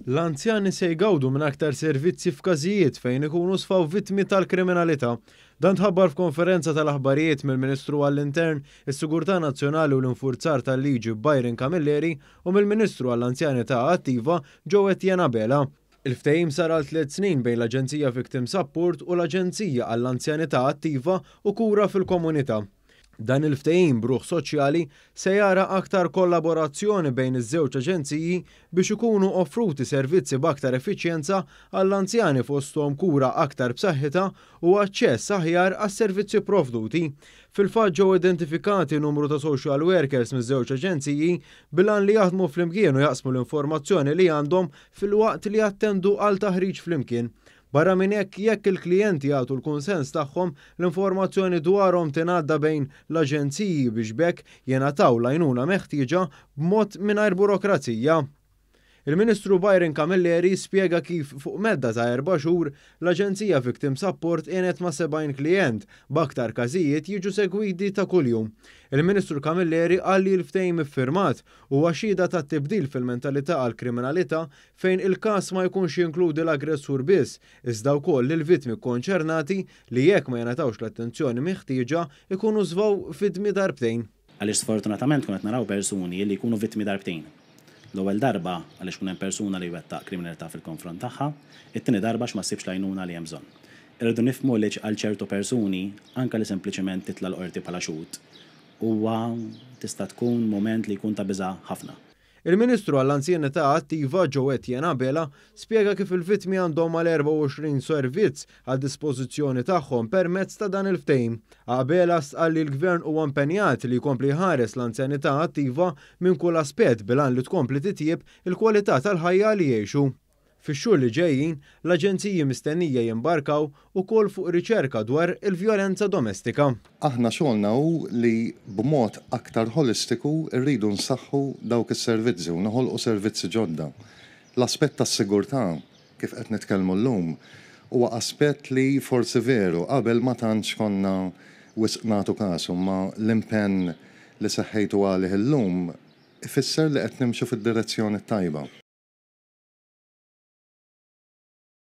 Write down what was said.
L-anzjani se jgawdu minn aktar servizzi f'każijiet fejn ikunu sfaw vittmi tal-kriminalità. Dan tħabbar f'konferenza tal-aħbarijiet mill-Ministru għall-Intern, is-Sigurtà Nazzjonali u l-Infurzar tal-Liġi Byron Camilleri u mill-Ministru għall-Anzjanità Attiva Jo Etienne Abela. Il-ftehim sar għal 3 snin bejn l-Aġenzija Victim Support u l-Aġenzija għall-Anzjanità Attiva u Kura fil-Komunità. Dan il-ftehim b'ruħ soċjali se jara aktar kollaborazzjoni bejn iż-żewġ aġenziji biex ikunu offruti servizzi b'aktar effiċjenza għall-anzjani, fosthom kura aktar b'saħħitha u aċċess aħjar għas-servizzi provduti. Fil-fatt, ġew identifikati numru ta' social workers miż-żewġ aġenziji bil-għan li jaħdmu flimkien u jaqsmu l-informazzjoni li għandhom filwaqt li jattendu għal taħriġ flimkien. Barra minn hekk, jekk il-klijenti jagħtu l-kunsens tagħhom, l-informazzjoni dwarhom tingħadda bejn l-aġenziji biex b'hekk jingħataw l-għajnuna meħtieġa b'mod mingħajr burokrazija. Il-Ministru Byron Camilleri spjega kif fuq medda ta' 4 xhur l-Aġenzija Victim Support għenet ma' 70 klient, b'aktar każijiet jiġu segwiti ta' kuljum. Il-Ministru Camilleri qal li l-ftehim iffirmat huwa xhieda ta' tibdil fil-mentalità għal-kriminalità, fejn il-każ ma jkunx jinkludi l-aggressur biss, iżda wkoll il-vittmi konċernati li, jekk ma jingħatawx l-attenzjoni meħtieġa, ikunu sfaw vittmi darbtejn. Għaliex sfortunatament konna naraw persuni li jkunu vittmi darbtejn. L-ewwel darba għaliex kun hemm persuna li wettaq kriminalità fil-konfront tagħha, it-tieni darba għax ma ssibx l-għajnuna li hemm bżonn. Irridu nifhmu li għal ċertu persuni, anke li sempliċement titla' l-qorti bħala xhud, huwa tista' tkun moment li jkun ta' biża' ħafna. Il-Ministru għall-Anzjanità Attiva Jo Etienne Abela spjega kif il-vittmi għandhom mal-24 servizz għal dispożizzjoni tagħhom permezz ta' dan il-ftehim. Abela qal li l-Gvern huwa impenjat li jkompli jħares l-anzjanità attiva minn kull aspett bil-għan li tkompli titjib il-kwalità tal-ħajja li jgħixu. Fix-xhur li ġejjin, l-aġenziji mistennija jimbarkaw ukoll fuq riċerka dwar il-vjolenza domestika. Aħna xogħolna hu li b'mod aktar holistiku rridu nsaħħu dawk is-servizzi u noħolqu servizzi ġodda. L-aspett tas-sigurtà, kif qed nitkellmu llum, huwa aspett li forsi veru qabel ma tantx konna wisq nagħtu kasu, ma l-impenn li seħħejtu għalih illum ifisser li qed nimxu fid-direzzjoni tajba.